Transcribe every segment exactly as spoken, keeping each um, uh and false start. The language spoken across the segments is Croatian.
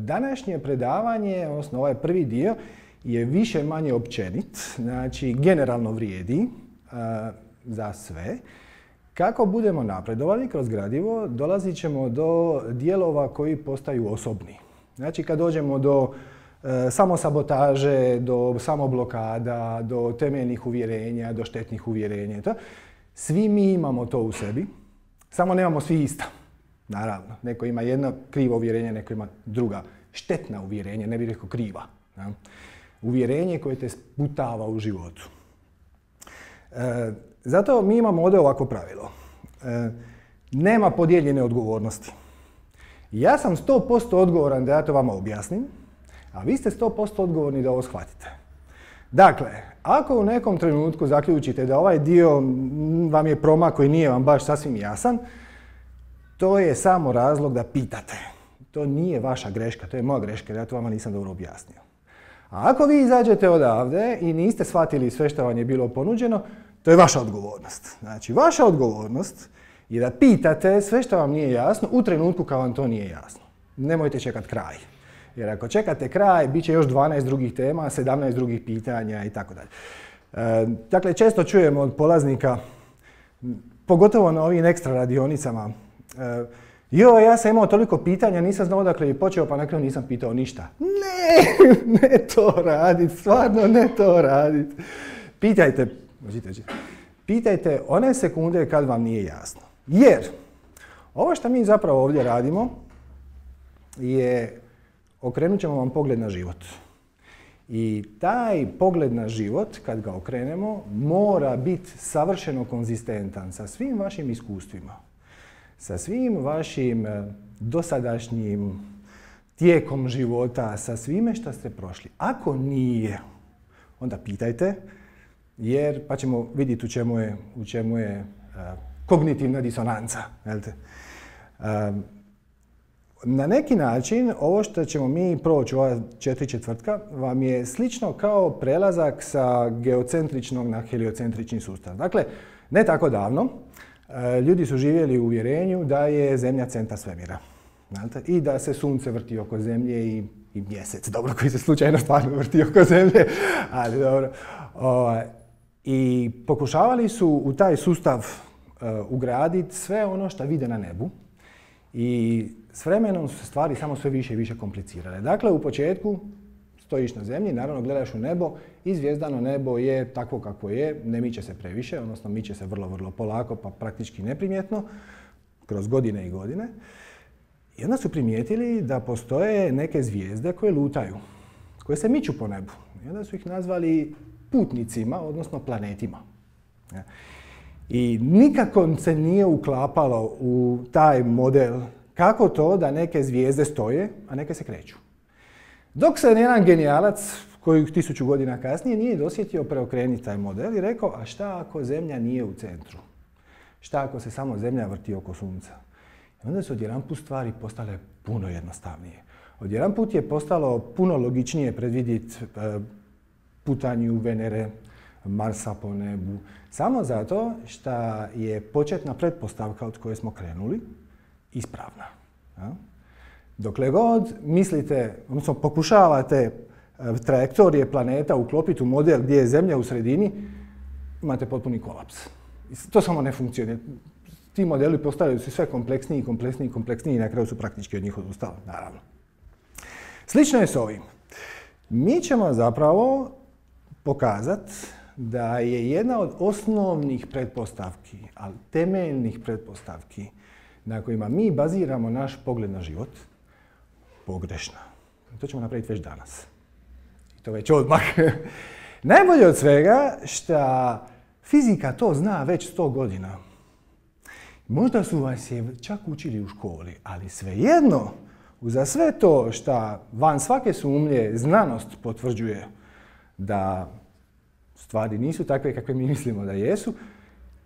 današnje predavanje, odnosno ovaj prvi dio, je više manje općenit, znači generalno vrijedi a, za sve. Kako budemo napredovali kroz gradivo, dolazit ćemo do dijelova koji postaju osobni. Znači kad dođemo do e, samosabotaže, do samoblokada, do temeljnih uvjerenja, do štetnih uvjerenja, to, svi mi imamo to u sebi, samo nemamo svi ista. Naravno, neko ima jedno krivo uvjerenje, neko ima druga štetna uvjerenja, ne bih rekao kriva. Ja? Uvjerenje koje te sputava u životu. E, zato mi imamo ovdje ovako pravilo. E, nema podijeljene odgovornosti. Ja sam sto posto odgovoran da ja to vama objasnim, a vi ste sto posto odgovorni da ovo shvatite. Dakle, ako u nekom trenutku zaključite da ovaj dio vam je promak koji nije vam baš sasvim jasan, to je samo razlog da pitate. To nije vaša greška, to je moja greška, jer ja to vama nisam dobro objasnio. A ako vi izađete odavde i niste shvatili sve što vam je bilo ponuđeno, to je vaša odgovornost. Znači, vaša odgovornost je da pitate sve što vam nije jasno u trenutku kad vam to nije jasno. Nemojte čekati kraj. Jer ako čekate kraj, bit će još dvanaest drugih tema, sedamnaest drugih pitanja i tako dalje. Dakle, često čujemo od polaznika, pogotovo na ovim ekstra radionicama, e, joj, ja sam imao toliko pitanja, nisam znao odakle je počeo, pa na kraju nisam pitao ništa. Ne, ne to radit, stvarno ne to radit. Pitajte, pitajte one sekunde kad vam nije jasno. Jer ovo što mi zapravo ovdje radimo je okrenut ćemo vam pogled na život. I taj pogled na život, kad ga okrenemo, mora biti savršeno konzistentan sa svim vašim iskustvima, sa svim vašim dosadašnjim tijekom života, sa svime što ste prošli. Ako nije, onda pitajte, jer pa ćemo vidjeti u čemu je, u čemu je uh, kognitivna disonanca. Uh, na neki način, ovo što ćemo mi proći u ova četiri četvrtka vam je slično kao prelazak sa geocentričnog na heliocentrični sustav. Dakle, ne tako davno, uh, ljudi su živjeli u uvjerenju da je Zemlja centar svemira. I da se Sunce vrti oko Zemlje i, i mjesec, dobro, koji se slučajno stvarno vrti oko Zemlje, ali dobro. Uh, I pokušavali su u taj sustav uh, ugraditi sve ono što vide na nebu i s vremenom su se stvari samo sve više i više komplicirale. Dakle, u početku stojiš na zemlji, naravno gledaš u nebo i zvijezdano nebo je takvo kako je, ne miče se previše, odnosno miče se vrlo, vrlo polako, pa praktički neprimjetno, kroz godine i godine. I onda su primijetili da postoje neke zvijezde koje lutaju, koje se miču po nebu. I onda su ih nazvali putnicima, odnosno planetima. I nikako se nije uklapalo u taj model kako to da neke zvijezde stoje, a neke se kreću. Dok se jedan genijalac, koji tisuću godina kasnije, nije dosjetio preokrenuti taj model i rekao, a šta ako Zemlja nije u centru? Šta ako se samo Zemlja vrti oko Sunca? I onda su odjedanput stvari postale puno jednostavnije. Odjedanput je postalo puno logičnije predvidjeti putanju Venere, Marsa po nebu, samo zato što je početna pretpostavka od koje smo krenuli ispravna. Ja? Dokle god mislite, odnosno pokušavate trajektorije planeta uklopiti u model gdje je Zemlja u sredini, imate potpuni kolaps. To samo ne funkcionira. Ti modeli postavljaju se sve kompleksniji, kompleksniji, kompleksniji i na kraju su praktički od njih odustali, naravno. Slično je s ovim. Mi ćemo zapravo pokazati da je jedna od osnovnih pretpostavki, ali temeljnih pretpostavki na kojima mi baziramo naš pogled na život, pogrešna. To ćemo napraviti već danas. I to već odmah. Najbolje od svega što fizika to zna već sto godina. Možda su vas je čak učili u školi, ali svejedno, uza sve to što van svake sumnje znanost potvrđuje da stvari nisu takve kakve mi mislimo da jesu,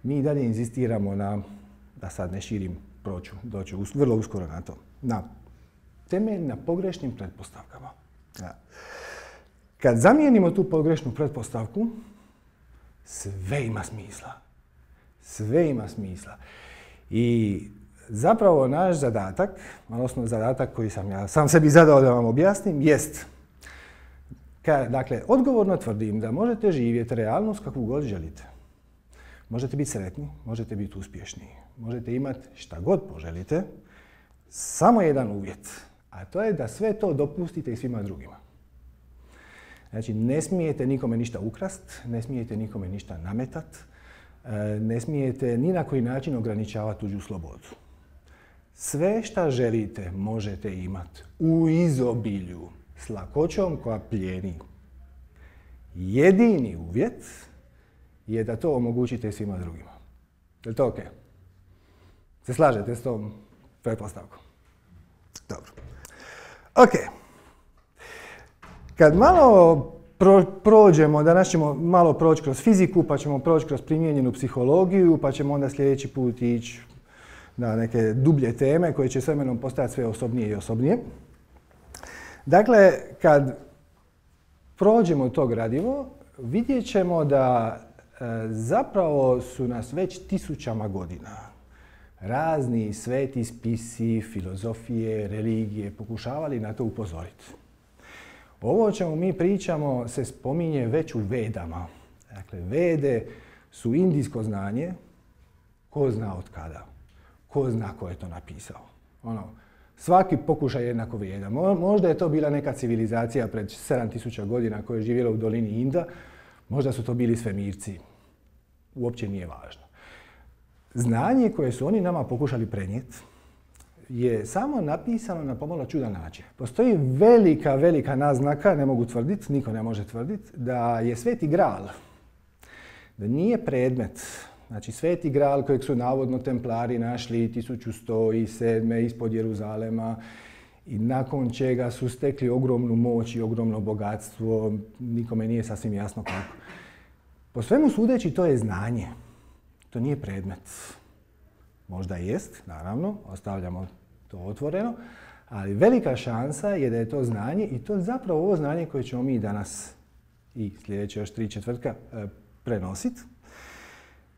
mi i dalje inzistiramo na, da sad ne širim, proću, doću vrlo uskoro na to, na temelj na pogrešnim pretpostavkama. Ja. Kad zamijenimo tu pogrešnu pretpostavku, sve ima smisla. Sve ima smisla. I zapravo naš zadatak, odnosno zadatak koji sam ja sam sebi zadao da vam objasnim, jest, ka, dakle, odgovorno tvrdim da možete živjeti realnost kakvu god želite. Možete biti sretni, možete biti uspješni, možete imati šta god poželite, samo jedan uvjet, a to je da sve to dopustite i svima drugima. Znači, ne smijete nikome ništa ukrast, ne smijete nikome ništa nametat, ne smijete ni na koji način ograničavati tuđu slobodu. Sve šta želite možete imati u izobilju, s lakoćom koja plijeni. Jedini uvjet je da to omogućite svima drugima. Je li to ok? Se slažete s tom pretpostavkom? Dobro. Ok. Kad malo pro, prođemo, danas ćemo malo proći kroz fiziku, pa ćemo proći kroz primijenjenu psihologiju, pa ćemo onda sljedeći put ići na neke dublje teme koje će s vremenom postajati sve osobnije i osobnije. Dakle, kad prođemo to gradivo, vidjet ćemo da e, zapravo su nas već tisućama godina razni sveti spisi, filozofije, religije pokušavali na to upozoriti. Ovo o čemu mi pričamo se spominje već u Vedama. Dakle, Vede su indijsko znanje, ko zna od kada, ko zna ko je to napisao. Ono, svaki pokušaj je jednako vrijedan. Možda je to bila neka civilizacija pred sedam tisuća godina koja je živjela u dolini Inda, možda su to bili svemirci. Uopće nije važno. Znanje koje su oni nama pokušali prenijeti je samo napisano na pomalo čudan način. Postoji velika, velika naznaka, ne mogu tvrditi, niko ne može tvrditi, da je Sveti Gral, da nije predmet, znači Sveti Gral kojeg su navodno templari našli tisuću sto sedme. ispod Jeruzalema i nakon čega su stekli ogromnu moć i ogromno bogatstvo, nikome nije sasvim jasno kako. Po svemu sudeći to je znanje, to nije predmet. Možda jest, naravno, ostavljamo to otvoreno, ali velika šansa je da je to znanje i to je zapravo ovo znanje koje ćemo mi danas i sljedeće još tri četvrtka e, prenositi.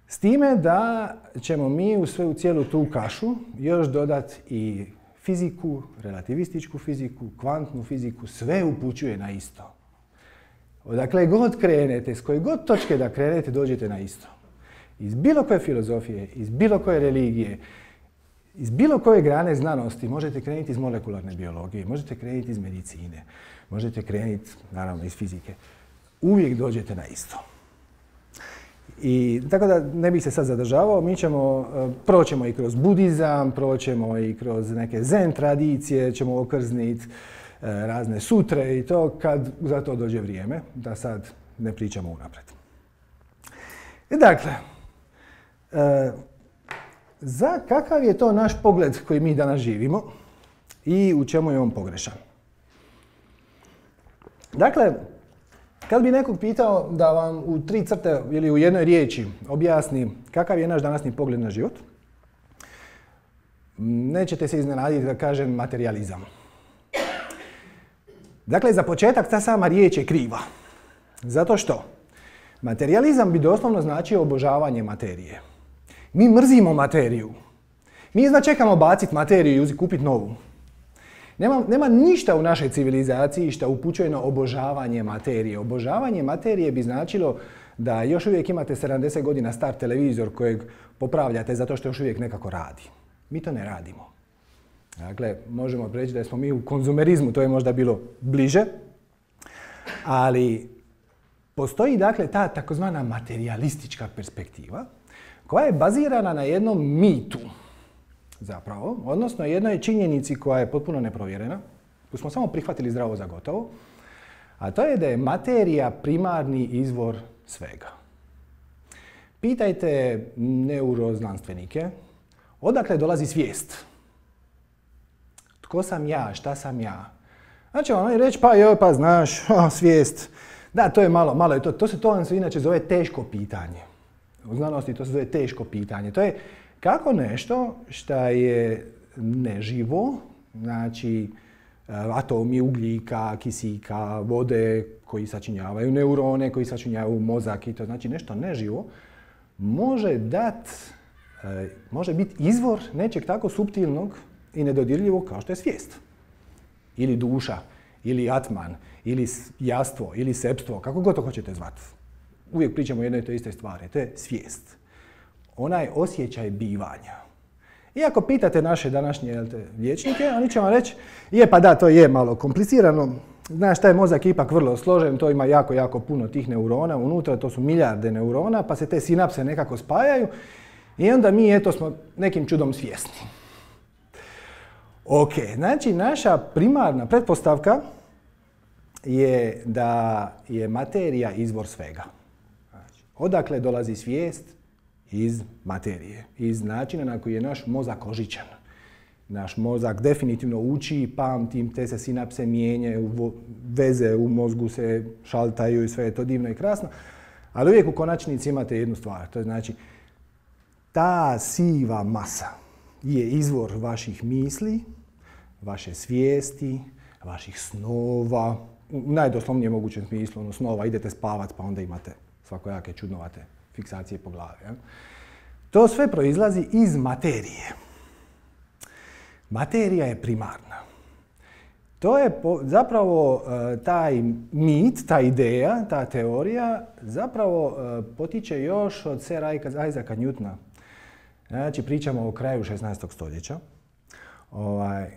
S time da ćemo mi u sve u cijelu tu kašu još dodati i fiziku, relativističku fiziku, kvantnu fiziku, sve upućuje na isto. Odakle god krenete, s koje god točke da krenete, dođete na isto. Iz bilo koje filozofije, iz bilo koje religije, iz bilo koje grane znanosti možete krenuti iz molekularne biologije, možete krenuti iz medicine, možete krenuti, naravno, iz fizike. Uvijek dođete na isto. I tako da ne bih se sad zadržavao, mi ćemo, proćemo i kroz budizam, proćemo i kroz neke zen tradicije, ćemo okrzniti razne sutre i to kad za to dođe vrijeme, da sad ne pričamo unaprijed. I dakle, e, za kakav je to naš pogled koji mi danas živimo i u čemu je on pogrešan? Dakle, kad bi nekog pitao da vam u tri crte ili u jednoj riječi objasni kakav je naš današnji pogled na život, nećete se iznenaditi da kažem materijalizam. Dakle, za početak ta sama riječ je kriva. Zato što materijalizam bi doslovno značio obožavanje materije. Mi mrzimo materiju. Mi izva čekamo baciti materiju i kupiti novu. Nema, nema ništa u našoj civilizaciji što upućuje na obožavanje materije. Obožavanje materije bi značilo da još uvijek imate sedamdeset godina star televizor kojeg popravljate zato što još uvijek nekako radi. Mi to ne radimo. Dakle, možemo reći da smo mi u konzumerizmu, to je možda bilo bliže, ali postoji dakle ta takozvana materijalistička perspektiva koja je bazirana na jednom mitu zapravo, odnosno jednoj činjenici koja je potpuno neprovjerena, koju smo samo prihvatili zdravo za gotovo, a to je da je materija primarni izvor svega. Pitajte neuroznanstvenike odakle dolazi svijest. Tko sam ja, šta sam ja? Znači oni reći pa joj, pa znaš, o, svijest. Da, to je malo, malo je to, to se to se inače zove teško pitanje. U znanosti to se zove teško pitanje. To je kako nešto što je neživo, znači atomi ugljika, kisika, vode koji sačinjavaju neurone, koji sačinjavaju mozak i to znači nešto neživo, može dati e, može biti izvor nečeg tako suptilnog i nedodirljivog kao što je svijest. Ili duša, ili atman, ili jastvo, ili sepstvo, kako god to hoćete zvati. Uvijek pričamo o jednoj te iste stvari, to je svijest. Onaj osjećaj bivanja. Iako pitate naše današnje jelte, liječnike, oni će vam reći, je pa da, to je malo komplicirano, znaš, taj mozak je ipak vrlo složen, to ima jako, jako puno tih neurona unutra, to su milijarde neurona, pa se te sinapse nekako spajaju i onda mi, eto, smo nekim čudom svjesni. Ok, znači naša primarna pretpostavka je da je materija izvor svega. Znači, odakle dolazi svijest? Iz materije, iz načina na koji je naš mozak ožičan. Naš mozak definitivno uči, pamti, te se sinapse mijenjaju, veze u mozgu se šaltaju i sve je to divno i krasno. Ali uvijek u konačnici imate jednu stvar, to je znači ta siva masa je izvor vaših misli, vaše svijesti, vaših snova, u najdoslovnijem mogućem smislu, ono snova, idete spavat pa onda imate svakojake čudnovate fiksacije po glavi. Ja? To sve proizlazi iz materije. Materija je primarna. To je po, zapravo uh, taj mit, ta ideja, ta teorija zapravo uh, potiče još od Sira Isaaca Newtona. Znači, pričamo o kraju šesnaestog stoljeća. Ovaj,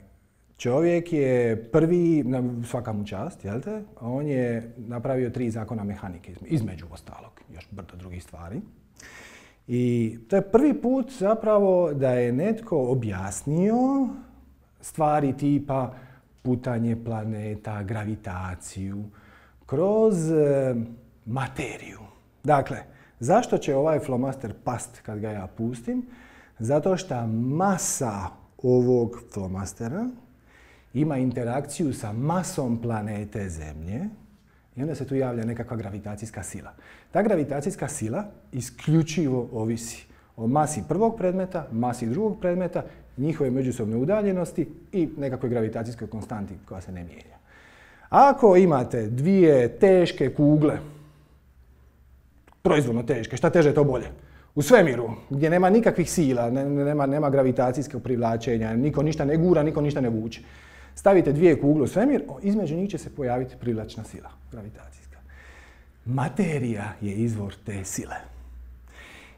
čovjek je prvi, svaka mu čast, jel te? On je napravio tri zakona mehanike, između ostalog, još brdo drugih stvari. I to je prvi put zapravo da je netko objasnio stvari tipa putanje planeta, gravitaciju, kroz e, materiju. Dakle, zašto će ovaj flomaster past kad ga ja pustim? Zato što masa ovog flomastera ima interakciju sa masom planete Zemlje i onda se tu javlja nekakva gravitacijska sila. Ta gravitacijska sila isključivo ovisi o masi prvog predmeta, masi drugog predmeta, njihove međusobne udaljenosti i nekakvoj gravitacijskoj konstanti koja se ne mijenja. Ako imate dvije teške kugle, proizvodno teške, šta teže to bolje, u svemiru, gdje nema nikakvih sila, nema, nema gravitacijskog privlačenja, niko ništa ne gura, niko ništa ne vuče. Stavite dvije kugle u svemir, između njih će se pojaviti privlačna sila, gravitacijska. Materija je izvor te sile.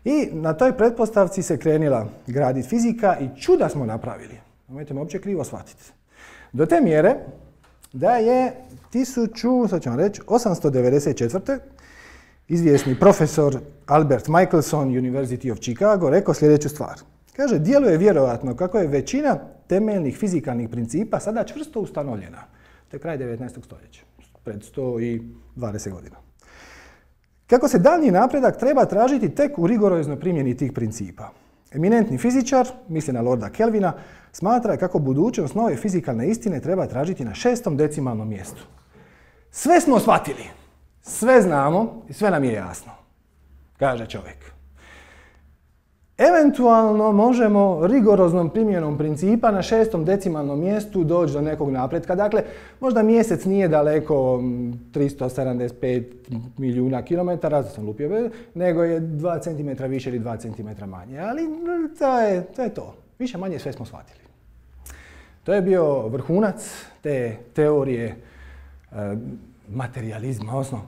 I na toj pretpostavci se krenila graditi fizika i čuda smo napravili. Nemojte me uopće krivo shvatiti. Do te mjere da je tisuću, sad ću vam reći, osamsto devedeset četvrte izvjesni profesor Albert Michelson, University of Chicago, rekao sljedeću stvar. Kaže, djeluje vjerojatno kako je većina temeljnih fizikalnih principa sada čvrsto ustanovljena. To je kraj devetnaestog stoljeća, pred sto dvadeset godina. Kako se daljnji napredak treba tražiti tek u rigoroznoj primjeni tih principa. Eminentni fizičar, misli na Lorda Kelvina, smatra kako budućnost nove fizikalne istine treba tražiti na šestom decimalnom mjestu. Sve smo shvatili, sve znamo i sve nam je jasno, kaže čovjek. Eventualno možemo rigoroznom primjenom principa na šestom decimalnom mjestu doći do nekog napretka. Dakle, možda mjesec nije daleko tristo sedamdeset pet milijuna kilometara, to sam lupio, nego je dva centimetra više ili dva centimetra manje. Ali to je, to je to. Više manje sve smo shvatili. To je bio vrhunac te teorije e, materializma, odnosno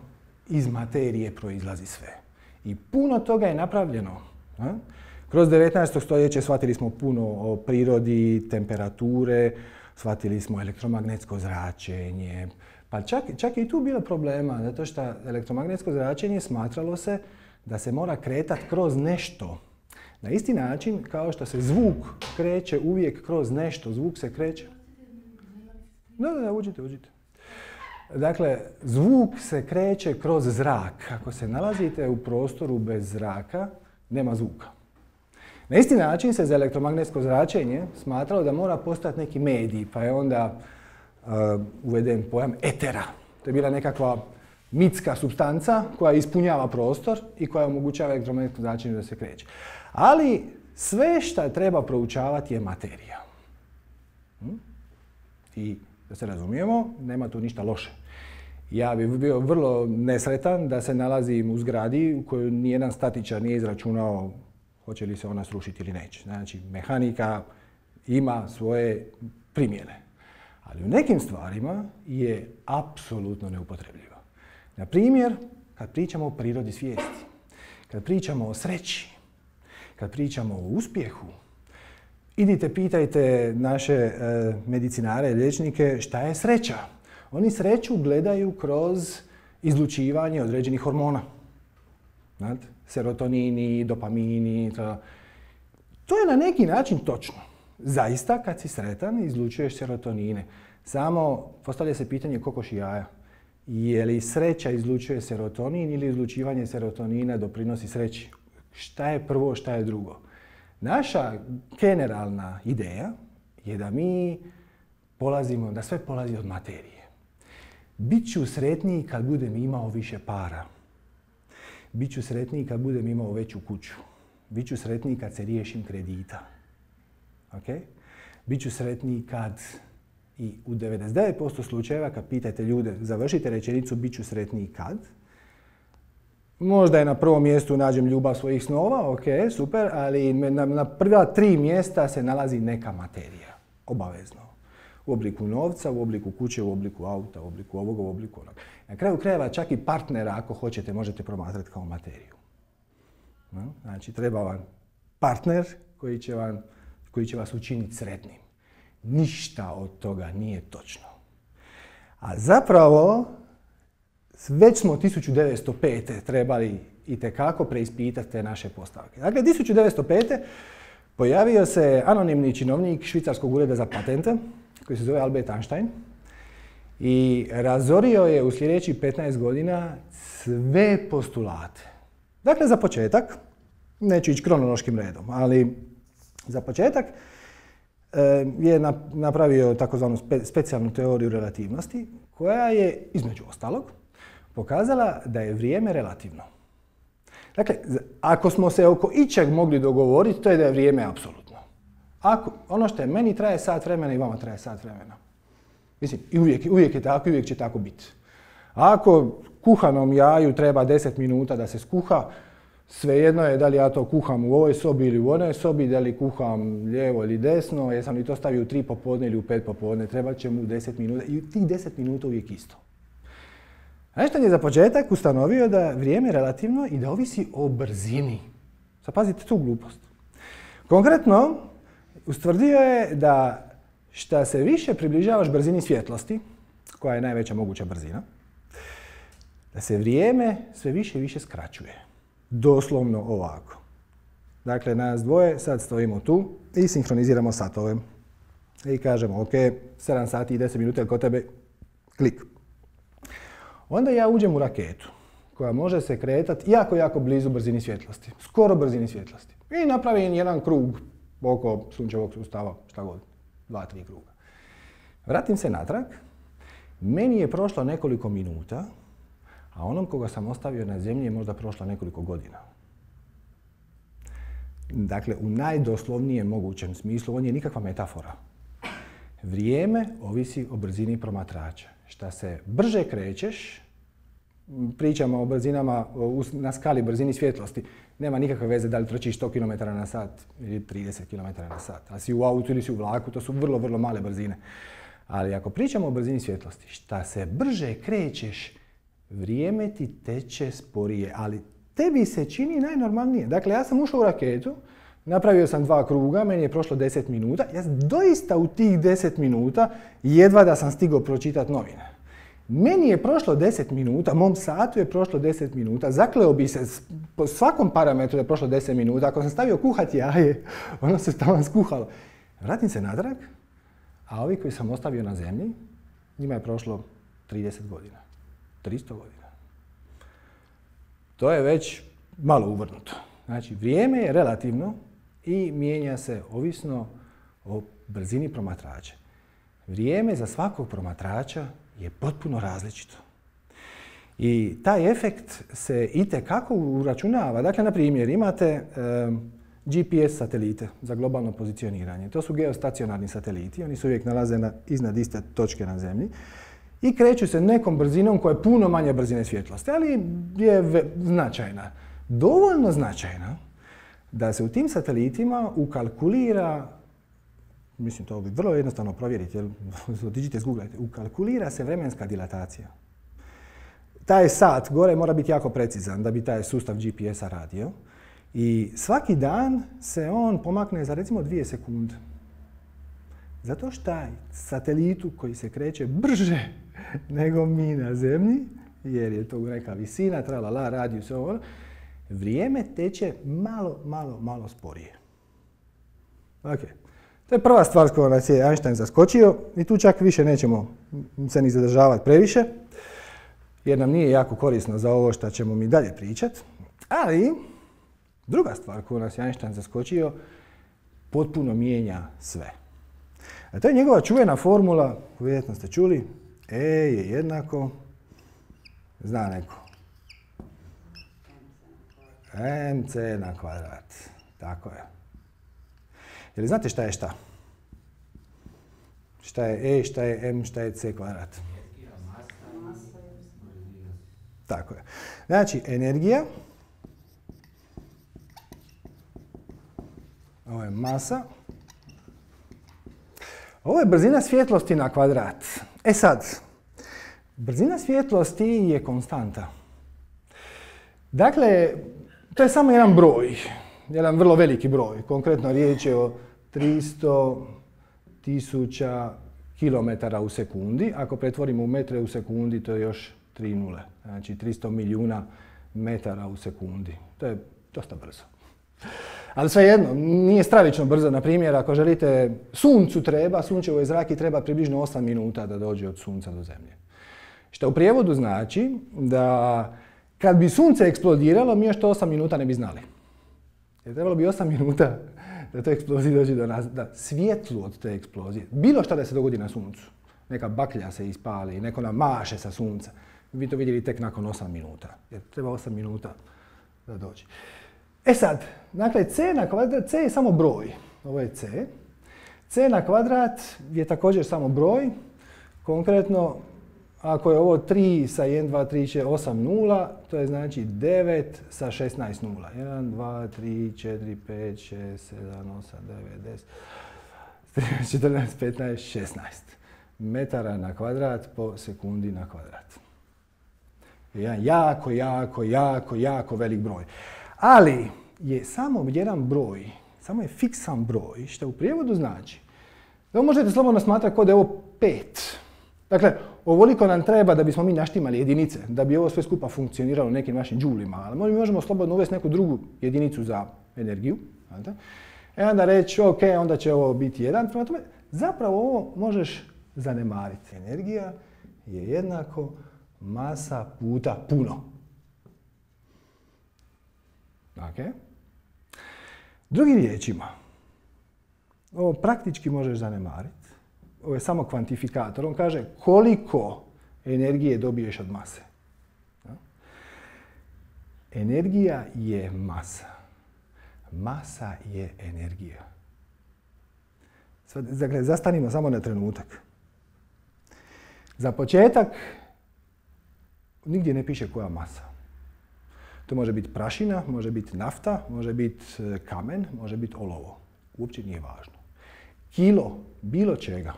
iz materije proizlazi sve. I puno toga je napravljeno. A? Kroz devetnaesto stoljeće shvatili smo puno o prirodi, temperature, shvatili smo elektromagnetsko zračenje. Pa čak, čak je i tu bilo problema, zato što elektromagnetsko zračenje smatralo se da se mora kretati kroz nešto. Na isti način kao što se zvuk kreće uvijek kroz nešto. Zvuk se kreće... Da, da, da, uđite, uđite. Dakle, zvuk se kreće kroz zrak. Ako se nalazite u prostoru bez zraka, nema zvuka. Na isti način se za elektromagnetsko zračenje smatralo da mora postati neki medij, pa je onda uh, uveden pojam etera. To je bila nekakva mitska supstanca koja ispunjava prostor i koja omogućava elektromagnetsko zračenje da se kreće. Ali sve što treba proučavati je materija. Hm? I da se razumijemo, nema tu ništa loše. Ja bih bio vrlo nesretan da se nalazim u zgradi u kojoj nijedan statičar nije izračunao hoće li se ona srušiti ili neće. Znači, mehanika ima svoje primjene. Ali u nekim stvarima je apsolutno neupotrebljiva. Na primjer, kad pričamo o prirodi svijesti, kad pričamo o sreći, kad pričamo o uspjehu, idite pitajte naše e, medicinare, liječnike šta je sreća. Oni sreću gledaju kroz izlučivanje određenih hormona. Znate? Serotonini, dopamini, to. To je na neki način točno. Zaista, kad si sretan, izlučuješ serotonine. Samo postavlja se pitanje kokoš i jaja. Je li sreća izlučuje serotonin ili izlučivanje serotonina doprinosi sreći? Šta je prvo, šta je drugo? Naša generalna ideja je da mi polazimo, da sve polazi od materije. Biću sretniji kad budem imao više para. Biću sretniji kad budem imao veću kuću. Biću sretniji kad se riješim kredita. Okay? Biću sretniji kad, i u devedeset devet posto slučajeva kad pitate ljude, završite rečenicu biću sretniji kad, možda je na prvom mjestu nađem ljubav svojih snova, ok, super, ali na, na prva tri mjesta se nalazi neka materija, obavezno. U obliku novca, u obliku kuće, u obliku auta, u obliku ovoga, u obliku onoga. Na kraju krajeva čak i partnera, ako hoćete, možete promatrati kao materiju. No? Znači, treba vam partner koji će, vam, koji će vas učiniti sretnim. Ništa od toga nije točno. A zapravo, već smo tisuću devetsto pete trebali itekako preispitati te naše postavke. Dakle, tisuću devetsto pete pojavio se anonimni činovnik švicarskog ureda za patente, koji se zove Albert Einstein, i razorio je u sljedećih petnaest godina sve postulate. Dakle, za početak, neću ići kronološkim redom, ali za početak je napravio takozvanu spe, specijalnu teoriju relativnosti, koja je, između ostalog, pokazala da je vrijeme relativno. Dakle, ako smo se oko ičeg mogli dogovoriti, to je da je vrijeme apsolutno. Ako, ono što je meni traje sat vremena i vama traje sat vremena. Mislim, i uvijek, uvijek je tako i uvijek će tako biti. Ako kuhanom jaju treba deset minuta da se skuha, svejedno je da li ja to kuham u ovoj sobi ili u onoj sobi, da li kuham lijevo ili desno, jesam li to stavio u tri popodne ili u pet popodne, treba će mu deset minuta i tih deset minuta uvijek isto. Einstein je za početak ustanovio da vrijeme je relativno i da ovisi o brzini. Sad pazite tu glupost. Konkretno, ustvrdio je da šta se više približavaš brzini svjetlosti, koja je najveća moguća brzina, da se vrijeme sve više i više skraćuje. Doslovno ovako. Dakle, nas dvoje sad stojimo tu i sinhroniziramo satove. I kažemo, ok, sedam sati i deset minuta, kod tebe, klik. Onda ja uđem u raketu, koja može se kretati jako, jako blizu brzini svjetlosti. Skoro brzini svjetlosti. I napravim jedan krug oko sunčevog sustava, šta god, dva, tri kruga. Vratim se natrag, meni je prošlo nekoliko minuta, a onom koga sam ostavio na zemlji je možda prošlo nekoliko godina. Dakle, u najdoslovnijem mogućem smislu, on je nikakva metafora. Vrijeme ovisi o brzini promatrača. Šta se brže krećeš, pričamo o brzinama na skali brzini svjetlosti, nema nikakve veze da li trčiš sto kilometara na sat ili trideset kilometara na sat. A si u autu ili si u vlaku, to su vrlo, vrlo male brzine. Ali ako pričamo o brzini svjetlosti, šta se brže krećeš, vrijeme ti teče sporije, ali tebi se čini najnormalnije. Dakle, ja sam ušao u raketu, napravio sam dva kruga, meni je prošlo deset minuta. Ja doista u tih deset minuta jedva da sam stigao pročitati novine. Meni je prošlo deset minuta, mom satu je prošlo deset minuta, zakleo bi se po svakom parametru da je prošlo deset minuta. Ako sam stavio kuhati jaje, ono se tamo skuhalo. Vratim se natrag, a ovi koji sam ostavio na zemlji, njima je prošlo trideset godina, tristo godina. To je već malo uvrnuto. Znači, vrijeme je relativno i mijenja se ovisno o brzini promatrača. Vrijeme za svakog promatrača je potpuno različito. I taj efekt se itekako uračunava. Dakle, na primjer, imate um, G P S satelite za globalno pozicioniranje. To su geostacionarni sateliti. Oni se uvijek nalaze na, iznad iste točke na Zemlji i kreću se nekom brzinom koja je puno manje brzine svjetlosti, ali je ve, značajna. Dovoljno značajna da se u tim satelitima ukalkulira, mislim to bi vrlo jednostavno provjeriti, jer otiđite zguglajte, ukalkulira se vremenska dilatacija. Taj sat gore mora biti jako precizan da bi taj sustav G P S-a radio. I svaki dan se on pomakne za recimo dvije sekunde. Zato što taj satelitu koji se kreće brže nego mi na Zemlji, jer je to neka visina, tralala, radijus, ovo, vrijeme teče malo, malo, malo sporije. Ok. To je prva stvar s kojom nas je Einstein zaskočio i tu čak više nećemo se ni zadržavati previše, jer nam nije jako korisno za ovo što ćemo mi dalje pričati. Ali, druga stvar koju nas je Einstein zaskočio, potpuno mijenja sve. A to je njegova čuvena formula, koju vjerojatno ste čuli, E je jednako, zna neko, mc na kvadrat. Tako je. Jel znate šta je šta? Šta je E, šta je M, šta je C kvadrat? Tako je. Znači, energija, ovo je masa, ovo je brzina svjetlosti na kvadrat. E sad, brzina svjetlosti je konstanta. Dakle, to je samo jedan broj, jedan vrlo veliki broj. Konkretno riječ je o tristo tisuća kilometara u sekundi. Ako pretvorimo u metre u sekundi, to je još tri nule. Znači tristo milijuna metara u sekundi. To je dosta brzo. Ali svejedno, nije stravično brzo. Na primjer, ako želite, suncu treba, sunčevoj zraki treba približno osam minuta da dođe od sunca do zemlje. Što u prijevodu znači da kad bi sunce eksplodiralo, mi još to osam minuta ne bi znali. Jer trebalo bi osam minuta da to eksplozija dođe do nas, da svjetlu od te eksplozije, bilo šta da se dogodi na suncu, neka baklja se ispali, neko nam maše sa sunca, vi to vidjeli tek nakon osam minuta, jer treba osam minuta da dođe. E sad, dakle, C na kvadrat, C je samo broj, ovo je C. C na kvadrat je također samo broj, konkretno, ako je ovo tri sa jedan, dva, tri, četiri, osam nula, to je znači devet sa šesnaest nula. jedan, dva, tri, četiri, pet, šest, sedam, osam, devet, deset, četrnaest, petnaest, šesnaest metara na kvadrat po sekundi na kvadrat. Jedan jako, jako, jako, jako velik broj. Ali je samo jedan broj, samo je fiksan broj, što u prijevodu znači da možete slobodno smatrati kao da je ovo pet. Dakle, ovoliko nam treba da bismo mi naštimali jedinice, da bi ovo sve skupa funkcioniralo nekim našim džulima, ali mi možemo slobodno uvesti neku drugu jedinicu za energiju. Znate? E onda reći, ok, onda će ovo biti jedan. Prema tome, zapravo ovo možeš zanemariti. Energija je jednako masa puta puno. Okay. Drugim riječima, ovo praktički možeš zanemariti. Ovo je samo kvantifikator. On kaže koliko energije dobiješ od mase. Energija je masa. Masa je energija. Sad, dakle, zastanimo samo na trenutak. Za početak, nigdje ne piše koja masa. To može biti prašina, može biti nafta, može biti kamen, može biti olovo. Uopće nije važno. Kilo bilo čega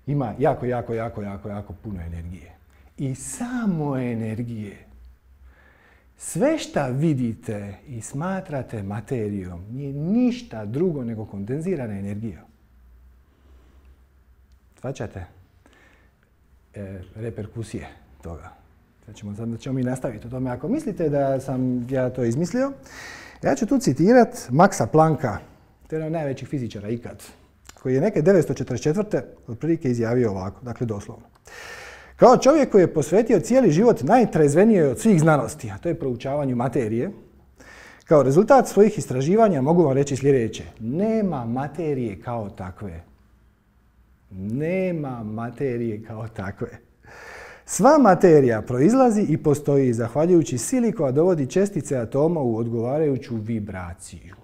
ima jako, jako, jako, jako, jako puno energije. I samo energije. Sve šta vidite i smatrate materijom nije ništa drugo nego kondenzirana energija. Shvaćate e, reperkusije toga. Sad ćemo, sad ćemo mi nastaviti o tome. Ako mislite da sam ja to izmislio, ja ću tu citirati Maxa Plancka, to je jedan od najvećih fizičara ikad, koji je neke devetsto četrdeset četvrte otprilike izjavio ovako, dakle doslovno. Kao čovjek koji je posvetio cijeli život najtrezvenijoj od svih znanosti, a to je proučavanju materije, kao rezultat svojih istraživanja mogu vam reći sljedeće. Nema materije kao takve. Nema materije kao takve. Sva materija proizlazi i postoji zahvaljujući sili koja dovodi čestice atoma u odgovarajuću vibraciju.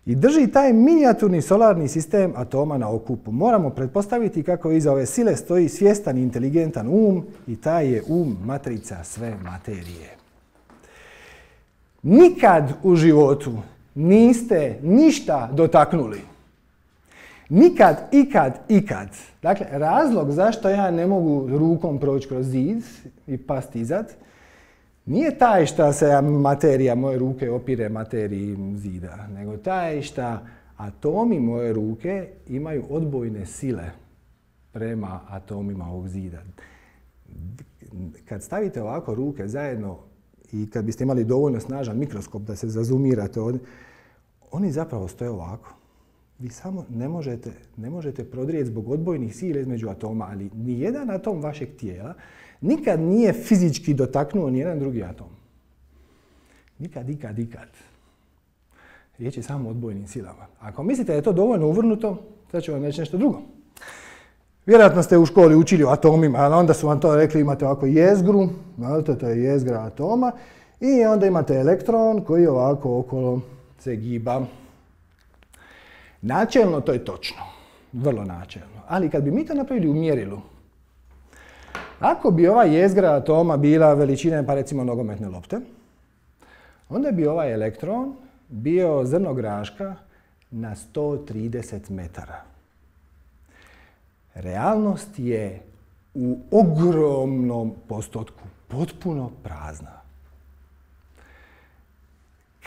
I drži taj minijaturni solarni sistem atoma na okupu. Moramo pretpostaviti kako iza ove sile stoji svjestan i inteligentan um i taj je um matrica sve materije. Nikad u životu niste ništa dotaknuli. Nikad, ikad, ikad. Dakle, razlog zašto ja ne mogu rukom proći kroz zid i pasti izad, nije taj što se materija moje ruke opire materiji zida, nego taj što atomi moje ruke imaju odbojne sile prema atomima ovog zida. Kad stavite ovako ruke zajedno i kad biste imali dovoljno snažan mikroskop da se zazumirate ovdje, oni zapravo stoje ovako. Vi samo ne možete, ne možete prodrijeti zbog odbojnih sila između atoma, ali nijedan atom vašeg tijela nikad nije fizički dotaknuo nijedan drugi atom. Nikad, ikad, ikad. Riječ je samo o odbojnim silama. Ako mislite da je to dovoljno uvrnuto, sad ću vam reći nešto drugo. Vjerojatno ste u školi učili o atomima, ali onda su vam to rekli, imate ovako jezgru, to je jezgra atoma, i onda imate elektron koji ovako okolo se giba. Načelno to je točno, vrlo načelno, ali kad bi mi to napravili u mjerilu, ako bi ova jezgra atoma bila veličine, pa recimo nogometne lopte, onda bi ovaj elektron bio zrno graška na sto trideset metara. Realnost je u ogromnom postotku potpuno prazna.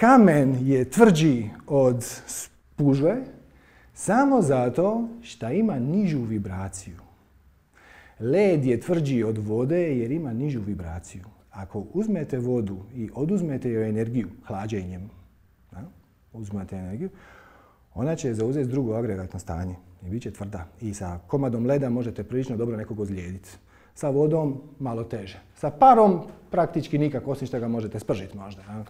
Kamen je tvrđi od spužve samo zato što ima nižu vibraciju. Led je tvrđi od vode jer ima nižu vibraciju. Ako uzmete vodu i oduzmete joj energiju hlađenjem, da, uzmete energiju, ona će zauzeti drugo agregatno stanje i bit će tvrda. I sa komadom leda možete prilično dobro nekog ozlijediti. Sa vodom malo teže. Sa parom praktički nikako, osim što ga možete spržiti možda. Da.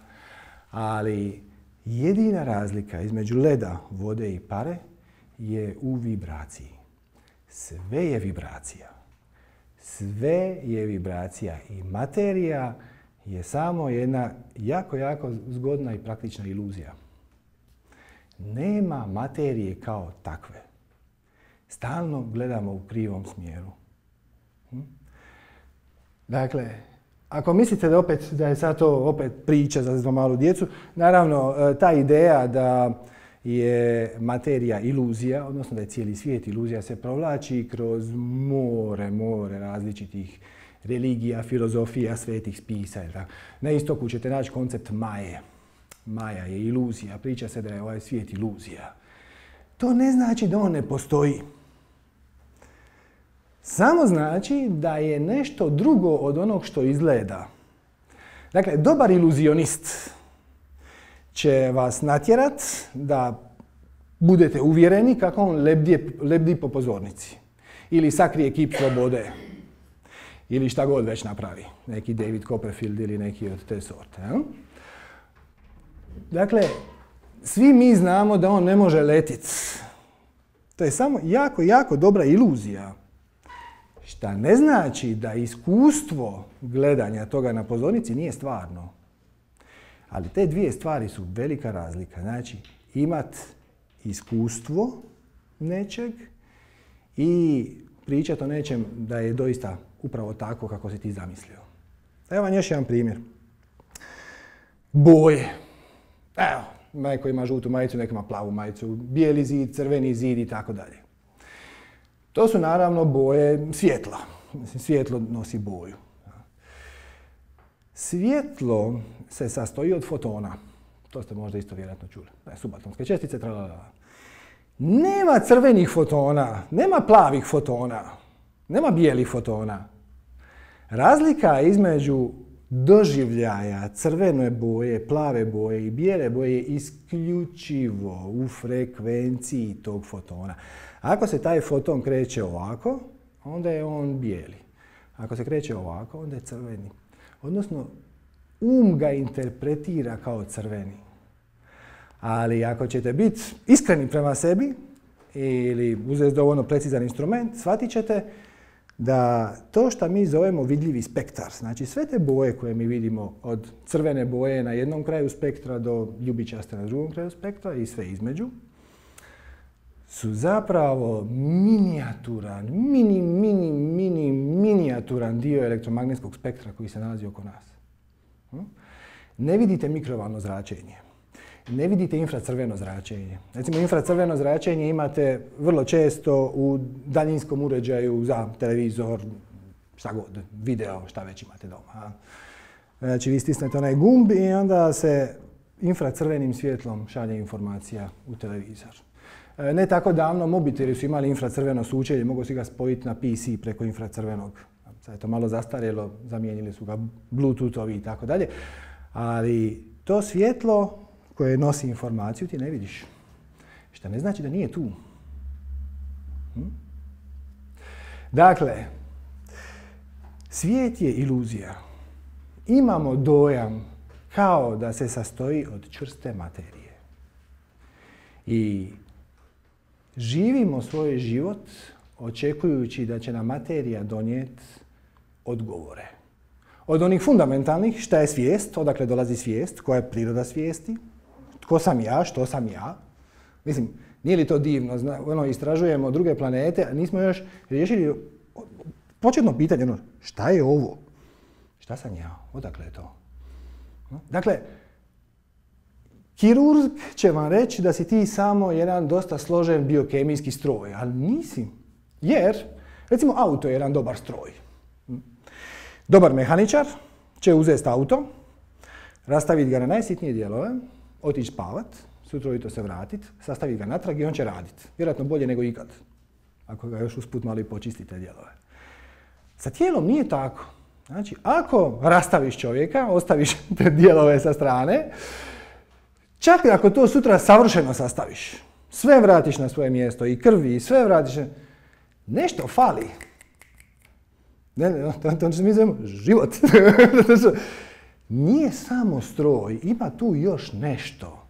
Ali jedina razlika između leda, vode i pare je u vibraciji. Sve je vibracija. Sve je vibracija i materija je samo jedna jako, jako zgodna i praktična iluzija. Nema materije kao takve. Stalno gledamo u krivom smjeru. Hm? Dakle, ako mislite da, opet, da je sad to opet priča za malu djecu, naravno ta ideja da je materija iluzija, odnosno da je cijeli svijet iluzija, se provlači kroz more, more različitih religija, filozofija, svetih spisa. Na istoku ćete naći koncept Maje. Maja je iluzija, priča se da je ovaj svijet iluzija. To ne znači da on ne postoji. Samo znači da je nešto drugo od onog što izgleda. Dakle, dobar iluzionist će vas natjerat da budete uvjereni kako on lebdi, lebdi po pozornici. Ili sakrije kip slobode. Ili šta god već napravi. Neki David Copperfield ili neki od te sorte. Ja? Dakle, svi mi znamo da on ne može letiti. To je samo jako, jako dobra iluzija. Šta ne znači da iskustvo gledanja toga na pozornici nije stvarno. Ali te dvije stvari su velika razlika. Znači, imat iskustvo nečeg i pričati o nečem da je doista upravo tako kako si ti zamislio. Evo vam još jedan primjer. Boje. Evo, neko ima žutu majicu, neko ima plavu majicu, bijeli zid, crveni zid i tako dalje. To su naravno boje svjetla. Svjetlo nosi boju. Svjetlo se sastoji od fotona. To ste možda isto vjerojatno čuli. Subatomske čestice, tralalala. Nema crvenih fotona, nema plavih fotona, nema bijelih fotona. Razlika između doživljaja crvene boje, plave boje i bijele boje je isključivo u frekvenciji tog fotona. Ako se taj foton kreće ovako, onda je on bijeli. Ako se kreće ovako, onda je crveni. Odnosno, um ga interpretira kao crveni. Ali ako ćete biti iskreni prema sebi ili uzeti dovoljno precizan instrument, shvatit ćete da to što mi zovemo vidljivi spektar, znači sve te boje koje mi vidimo od crvene boje na jednom kraju spektra do ljubičaste na drugom kraju spektra i sve između, su zapravo minijaturan, mini, mini, mini, minijaturan dio elektromagnetskog spektra koji se nalazi oko nas. ne vidite mikrovalno zračenje. Ne vidite infracrveno zračenje. Recimo, infracrveno zračenje imate vrlo često u daljinskom uređaju za televizor, šta god, video, šta već imate doma. Znači, vi stisnete onaj gumb i onda se infracrvenim svjetlom šalje informacija u televizor. Ne tako davno mobiteli su imali infracrveno sučelje, mogu si ga spojiti na P C preko infracrvenog. Sad je to malo zastarjelo, zamijenili su ga Bluetoothovi i tako dalje. Ali to svjetlo koje nosi informaciju ti ne vidiš. Što ne znači da nije tu. Hm? Dakle, svijet je iluzija. Imamo dojam kao da se sastoji od čvrste materije. I živimo svoj život očekujući da će nam materija donijeti odgovore. Od onih fundamentalnih, šta je svijest, odakle dolazi svijest, koja je priroda svijesti, tko sam ja, što sam ja. Mislim, nije li to divno? Zna, ono, istražujemo druge planete, a nismo još riješili početno pitanje, ono, šta je ovo? Šta sam ja? Odakle je to? Dakle, kirurg će vam reći da si ti samo jedan dosta složen biokemijski stroj, ali nisi. Jer, recimo, auto je jedan dobar stroj. Dobar mehaničar će uzeti auto, rastaviti ga na najsitnije dijelove, otići spavat, sutra ujutro se vratiti, sastaviti ga natrag i on će raditi. Vjerojatno bolje nego ikad, ako ga još usput malo i počistite dijelove. Sa tijelom nije tako. Znači, ako rastaviš čovjeka, ostaviš te dijelove sa strane, čak i ako to sutra savršeno sastaviš, sve vratiš na svoje mjesto, i krvi, i sve vratiš, nešto fali. Ne, ne, to, to mi zovemo život. Nije samo stroj, ima tu još nešto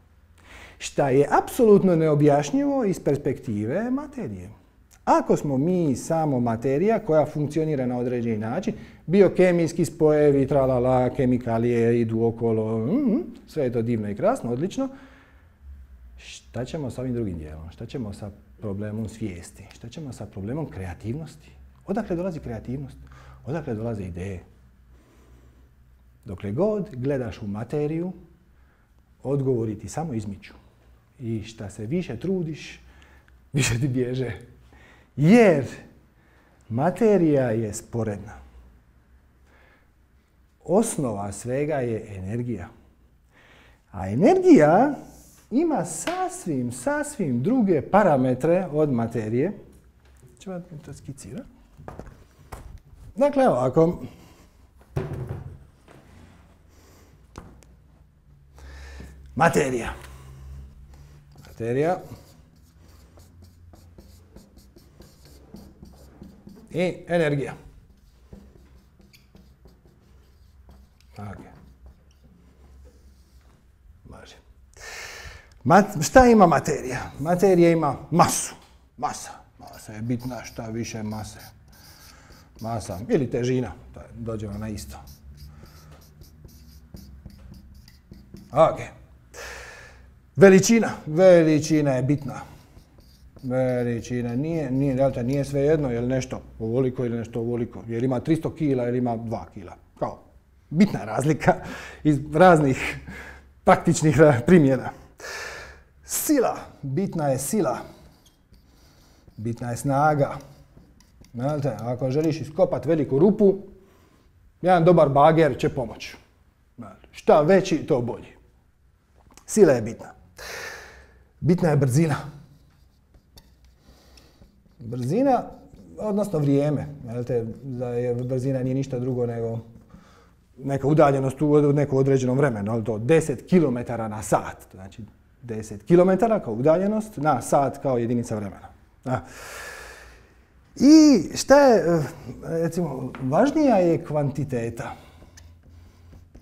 šta je apsolutno neobjašnjivo iz perspektive materije. Ako smo mi samo materija koja funkcionira na određeni način, biokemijski spojevi, tralala, kemikalije idu okolo, mm, sve je to divno i krasno, odlično. Šta ćemo sa ovim drugim dijelom? Šta ćemo sa problemom svijesti? Šta ćemo sa problemom kreativnosti? Odakle dolazi kreativnost? Odakle dolaze ideje? Dokle god gledaš u materiju, odgovori ti samo izmiču. I šta se više trudiš, više ti bježe. Jer materija je sporedna. Osnova svega je energija. A energija ima sasvim, sasvim druge parametre od materije. Ću vam to skicirati. Dakle, ovako. Materija. Materija. I energija. Okay. Može. Mat, šta ima materija? Materija ima masu. Masa. Masa je bitna, šta više mase. Masa ili težina. Dođemo na isto. Ok. Veličina. Veličina je bitna. Veličina nije, nije, dakle, nije svejedno je li nešto ovoliko ili nešto ovoliko. Jer ima tristo kila ili ima dva kila. Kao bitna razlika iz raznih praktičnih primjera. Sila. Bitna je sila. Bitna je snaga. Znate, ako želiš iskopati veliku rupu, jedan dobar bager će pomoći. Šta veći, to bolji. Sila je bitna. Bitna je brzina. Brzina, odnosno vrijeme. Znate, da je brzina nije ništa drugo nego neka udaljenost u nekom određenom vremenu. Ali to deset kilometara na sat. Znači deset kilometara kao udaljenost na sat kao jedinica vremena. Da. I šta je, recimo, važnija je kvantiteta.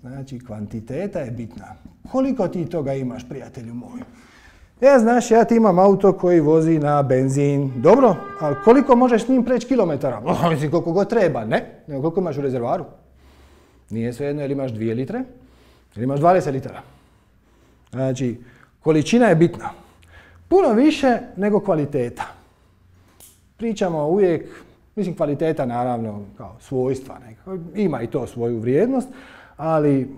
Znači, kvantiteta je bitna. Koliko ti toga imaš, prijatelju moj? Ja, znaš, ja ti imam auto koji vozi na benzin. Dobro, ali koliko možeš s njim preći kilometara? Oh, mislim, koliko god treba, ne? Nego koliko imaš u rezervaru? Nije svejedno, ili imaš dvije litre, ili imaš dvadeset litara. Znači, količina je bitna. Puno više nego kvaliteta. Pričamo uvijek, mislim, kvaliteta naravno kao svojstva nekako, ima i to svoju vrijednost, ali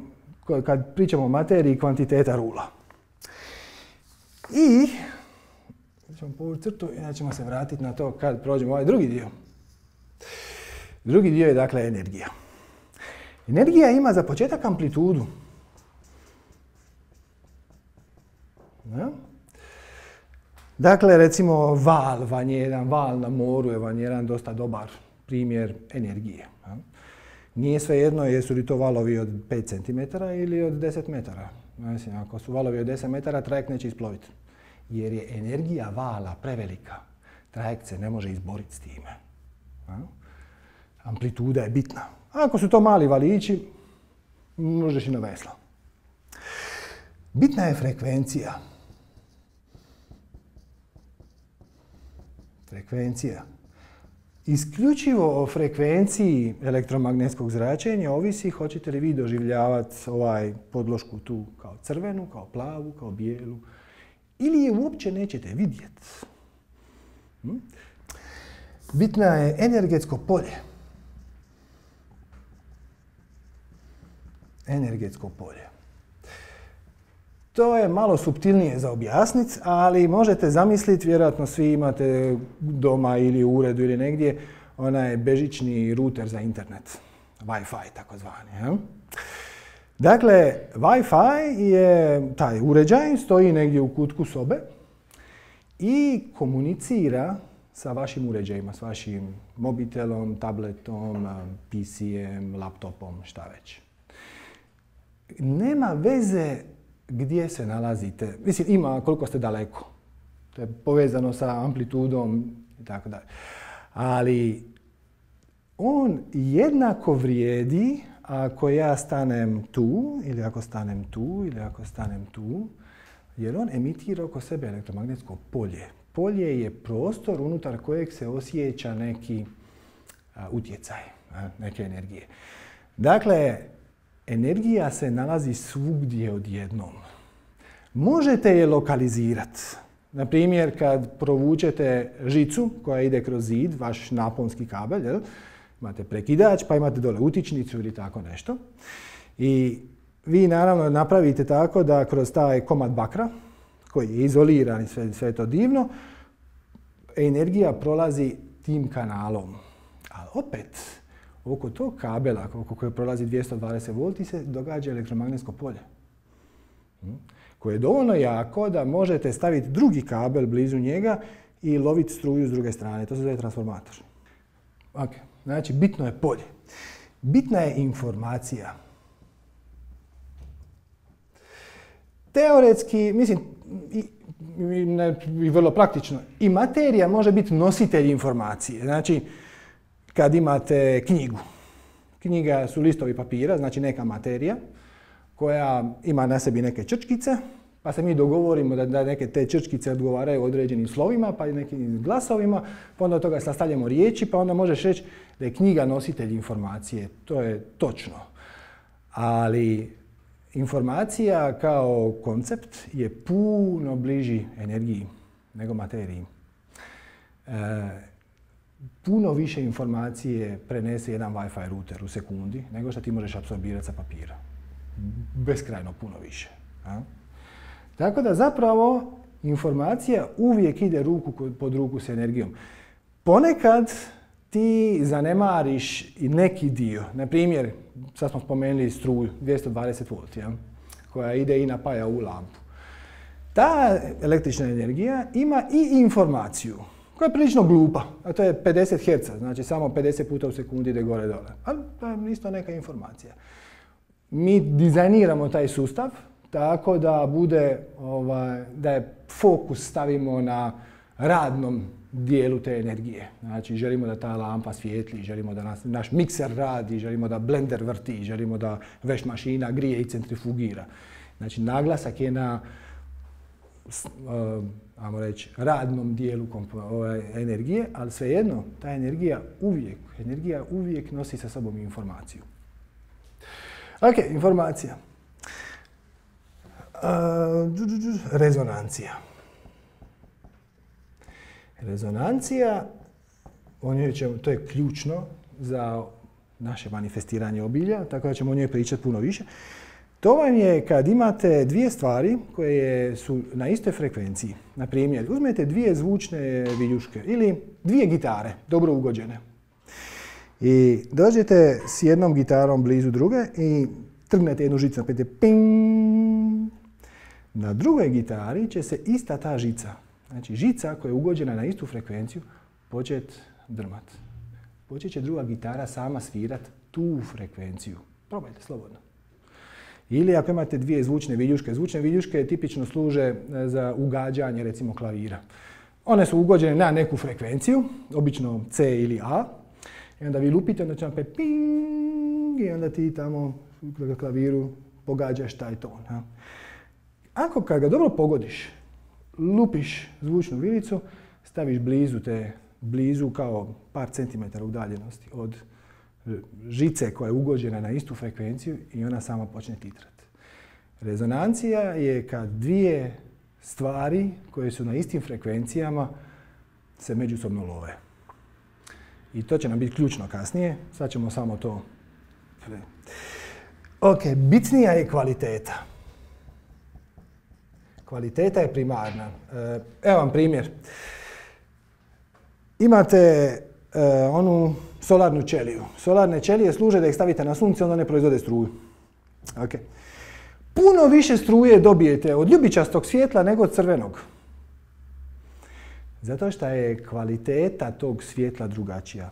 kad pričamo o materiji, kvantiteta rula. I ćemo povući crtu i ćemo se vratiti na to kad prođemo ovaj drugi dio. Drugi dio je dakle energija. Energija ima za početak amplitudu. Ja? Dakle, recimo val vam je jedan, val na moru je vam jedan dosta dobar primjer energije. Ja? Nije svejedno jesu li to valovi od pet centimetara ili od deset metara. Mislim, ako su valovi od deset metara, trajekt neće isploviti. Jer je energija vala prevelika. Trajekt se ne može izboriti s time. Ja? Amplituda je bitna. Ako su to mali valići, možeš i na veslo. Bitna je frekvencija. Frekvencija. Isključivo o frekvenciji elektromagnetskog zračenja ovisi hoćete li vi doživljavati ovaj podlošku tu kao crvenu, kao plavu, kao bijelu, ili je uopće nećete vidjeti. Hm? Bitna je energetsko polje. Energetsko polje. To je malo suptilnije za objasniti, ali možete zamisliti, vjerojatno svi imate doma ili u uredu ili negdje, onaj bežični ruter za internet. Wi-Fi takozvani. Ja? Dakle, Wi-Fi je taj uređaj, stoji negdje u kutku sobe i komunicira sa vašim uređajima, s vašim mobitelom, tabletom, P C-em, laptopom, šta već. Nema veze gdje se nalazite. Mislim, ima koliko ste daleko. To je povezano sa amplitudom i tako dalje. Ali on jednako vrijedi ako ja stanem tu, ili ako stanem tu, ili ako stanem tu, jer on emitira oko sebe elektromagnetsko polje. Polje je prostor unutar kojeg se osjeća neki a, utjecaj, a, neke energije. Dakle, energija se nalazi svugdje odjednom. Možete je lokalizirati. Na primjer, kad provučete žicu koja ide kroz zid, vaš naponski kabel, jel? Imate prekidač, pa imate dole utičnicu ili tako nešto. I vi naravno napravite tako da kroz taj komad bakra, koji je izoliran i sve, sve to divno, energija prolazi tim kanalom. Ali opet, oko tog kabela, oko koje prolazi dvjesto dvadeset volti, se događa elektromagnetsko polje. Koje je dovoljno jako da možete staviti drugi kabel blizu njega i loviti struju s druge strane. To se zove transformator. Ok, znači bitno je polje. Bitna je informacija. Teoretski, mislim, i, i, ne, i vrlo praktično, i materija može biti nositelj informacije. Znači, kad imate knjigu. Knjiga su listovi papira, znači neka materija koja ima na sebi neke črčkice, pa se mi dogovorimo da, da neke te črčkice odgovaraju određenim slovima, pa i nekim glasovima, pa onda od toga sastavljamo riječi, pa onda možeš reći da je knjiga nositelj informacije. To je točno. Ali informacija kao koncept je puno bliži energiji nego materiji. E, puno više informacije prenese jedan Wi-Fi router u sekundi nego što ti možeš apsorbirati sa papira. Beskrajno puno više. A? Tako da zapravo informacija uvijek ide ruku pod ruku s energijom. Ponekad ti zanemariš i neki dio. Na primjer, sad smo spomenuli struju, dvjesto dvadeset volti, ja? Koja ide i napaja u lampu. Ta električna energija ima i informaciju koja je prilično glupa, a to je pedeset herca, znači samo pedeset puta u sekundi ide gore dole. Ali to je isto neka informacija. Mi dizajniramo taj sustav tako da bude, ovaj, da je fokus stavimo na radnom dijelu te energije. Znači želimo da ta lampa svijetli, želimo da nas, naš mikser radi, želimo da blender vrti, želimo da veš mašina grije i centrifugira. Znači naglasak je na uh, ajmo reći, radnom dijelu ove energije, ali svejedno, ta energija uvijek, energija uvijek nosi sa sobom informaciju. Ok, informacija. Uh, rezonancija. Rezonancija, o njoj ćemo, to je ključno za naše manifestiranje obilja, tako da ćemo o njoj pričati puno više. To vam je kad imate dvije stvari koje su na istoj frekvenciji. Na primjer, uzmete dvije zvučne viljuške ili dvije gitare, dobro ugođene. I dođete s jednom gitarom blizu druge i trgnete jednu žicu, napijete ping. Na drugoj gitari će se ista ta žica, znači žica koja je ugođena na istu frekvenciju, počet drmat. Počet će druga gitara sama svirat tu frekvenciju. Probajte slobodno. Ili ako imate dvije zvučne viljuške, zvučne viljuške tipično služe za ugađanje recimo klavira. One su ugođene na neku frekvenciju, obično C ili A, i onda vi lupite, onda će vam pet ping i onda ti tamo na klaviru pogađaš taj ton. Ja. Ako kad ga dobro pogodiš, lupiš zvučnu vilicu, staviš blizu te, blizu kao par centimetara udaljenosti od žice koja je ugođena na istu frekvenciju i ona sama počne titrati. Rezonancija je kad dvije stvari koje su na istim frekvencijama se međusobno love. I to će nam biti ključno kasnije. Sad ćemo samo to... Ok, bitnija je kvaliteta. Kvaliteta je primarna. Evo vam primjer. Imate uh, onu solarnu ćeliju. Solarne ćelije služe da ih stavite na sunce, onda ne proizvode struju. Okay. Puno više struje dobijete od ljubičastog svjetla nego od crvenog. Zato što je kvaliteta tog svjetla drugačija.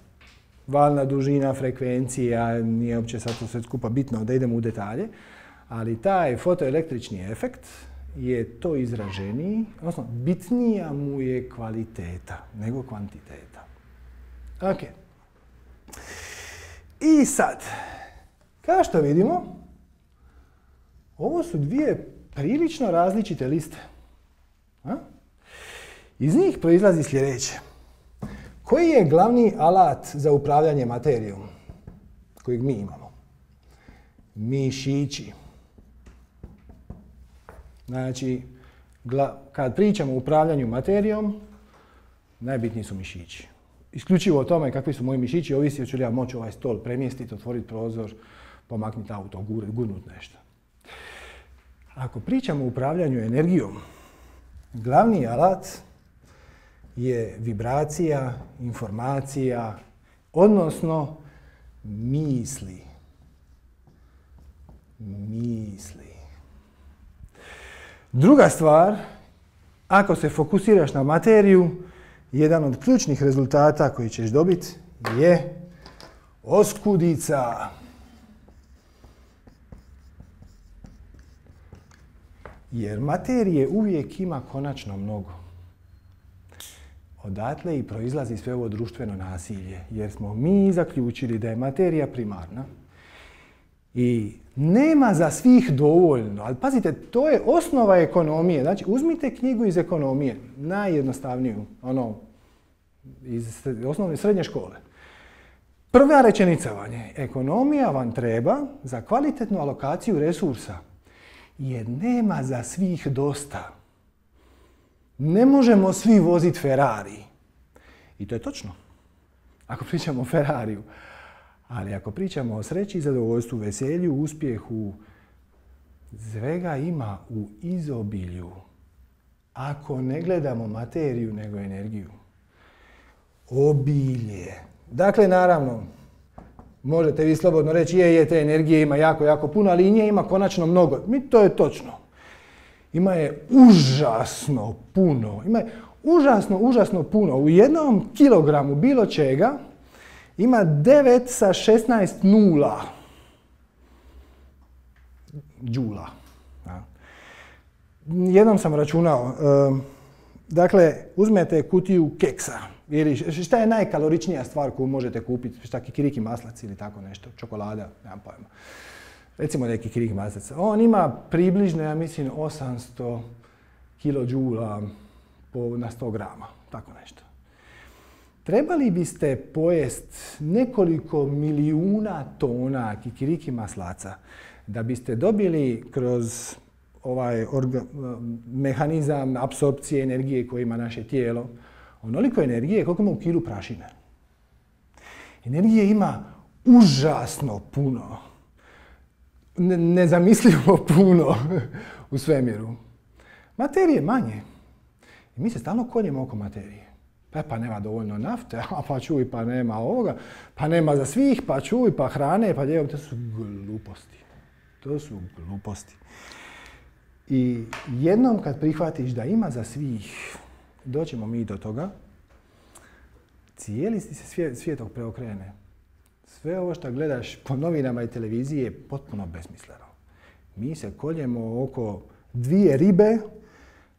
Valna dužina, frekvencija, nije uopće sad to sve skupa bitno da idemo u detalje, ali taj fotoelektrični efekt je to izraženiji, odnosno bitnija mu je kvaliteta nego kvantiteta. Ok. I sad, kao što vidimo, ovo su dvije prilično različite liste. A? Iz njih proizlazi sljedeće. Koji je glavni alat za upravljanje materijom kojeg mi imamo? Mišići. Znači, kad pričamo o upravljanju materijom, najbitniji su mišići. Isključivo o tome kakvi su moji mišići, ovisi hoću li ja moći ovaj stol premjestiti, otvoriti prozor, pomaknuti auto, gurnuti nešto. Ako pričamo o upravljanju energijom, glavni alat je vibracija, informacija, odnosno misli. Misli. Druga stvar, ako se fokusiraš na materiju, jedan od ključnih rezultata koji ćeš dobiti je oskudica. Jer materije uvijek ima konačno mnogo. Odatle i proizlazi sve ovo društveno nasilje, jer smo mi zaključili da je materija primarna i nema za svih dovoljno. Ali pazite, to je osnova ekonomije. Znači, uzmite knjigu iz ekonomije, najjednostavniju, ono, iz osnovne srednje škole. Prva rečenica vam je, ekonomija vam treba za kvalitetnu alokaciju resursa, jer nema za svih dosta. Ne možemo svi voziti Ferrari. I to je točno. Ako pričamo o Ferrariju. Ali ako pričamo o sreći, zadovoljstvu, veselju, uspjehu, svega ima u izobilju. Ako ne gledamo materiju, nego energiju. Obilje. Dakle, naravno, možete vi slobodno reći, je, je, te energije ima jako, jako puno, ali i nje ima konačno mnogo. Mi to je točno. Ima je užasno puno. Ima je užasno, užasno puno. U jednom kilogramu bilo čega ima devet sa šesnaest nula džula. Jednom sam računao, dakle, uzmete kutiju keksa. Ili šta je najkaloričnija stvar koju možete kupiti? Šta, kikiriki maslac ili tako nešto, čokolada, nemam pojma. Recimo neki kikiriki maslac. On ima približno, ja mislim, osamsto kilodžula na sto grama, tako nešto. Trebali biste pojest nekoliko milijuna tona kikiriki maslaca da biste dobili kroz ovaj orga, mehanizam apsorpcije energije koji ima naše tijelo onoliko energije koliko ima u kilu prašine. Energije ima užasno puno. nezamislivo puno u svemiru. Materije manje. I mi se stalno koljemo oko materije. Pa, pa nema dovoljno nafte, a pa čuj, pa nema ovoga, pa nema za svih, pa čuj, pa hrane, pa lijevo. To su gluposti. To su gluposti. I jednom kad prihvatiš da ima za svih, doćemo mi do toga, cijeli ti se svijet, svijetok preokrene. Sve ovo što gledaš po novinama i televiziji je potpuno besmisleno. Mi se koljemo oko dvije ribe,